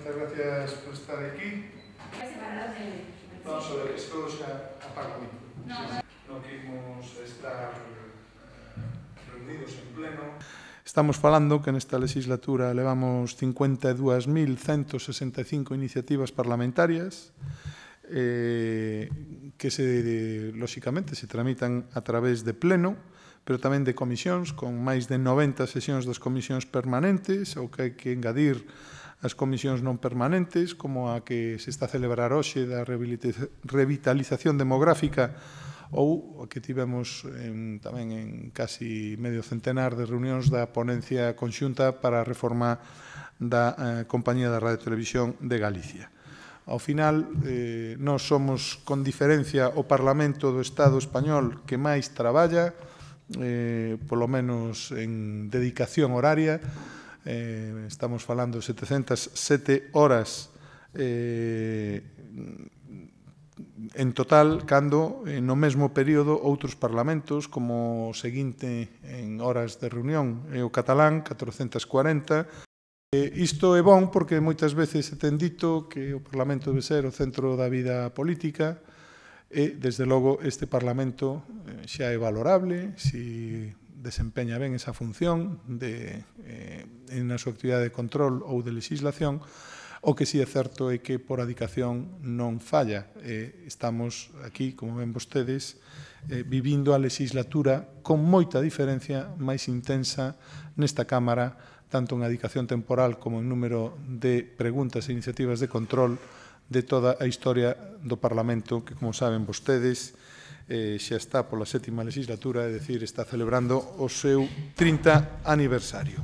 Moitas gracias por estar aquí. Vamos a ver, isto xa apaga a mí. Non quimos estar reunidos en pleno. Estamos falando que nesta legislatura levamos 52.165 iniciativas parlamentarias que, lóxicamente, se tramitan a través de pleno, pero tamén de comisións, con máis de 90 sesións das comisións permanentes, ou que hai que engadir as comisións non permanentes, como a que se está a celebrar hoxe da revitalización demográfica, ou a que tivemos tamén en casi medio centenar de reunións da ponencia conxunta para a reforma da Compañía da Radio e Televisión de Galicia. Ao final, nós somos, con diferencia, o Parlamento do Estado español que máis traballa, polo menos en dedicación horaria. Estamos falando de 707 horas en total, cando no mesmo período outros parlamentos, como o seguinte en horas de reunión, é o catalán, 440. Isto é bon porque moitas veces se ten dito que o Parlamento debe ser o centro da vida política e, desde logo, este Parlamento xa é valorable se desempeña ben esa función na súa actividade de control ou de legislación. O que si é certo é que por adicación non falla. Estamos aquí, como ven vostedes, vivindo a legislatura con moita diferencia máis intensa nesta Cámara, tanto en adicación temporal como en número de preguntas e iniciativas de control de toda a historia do Parlamento, que, como saben vostedes, xa está pola 7ª legislatura, é dicir, está celebrando o seu 30 aniversario.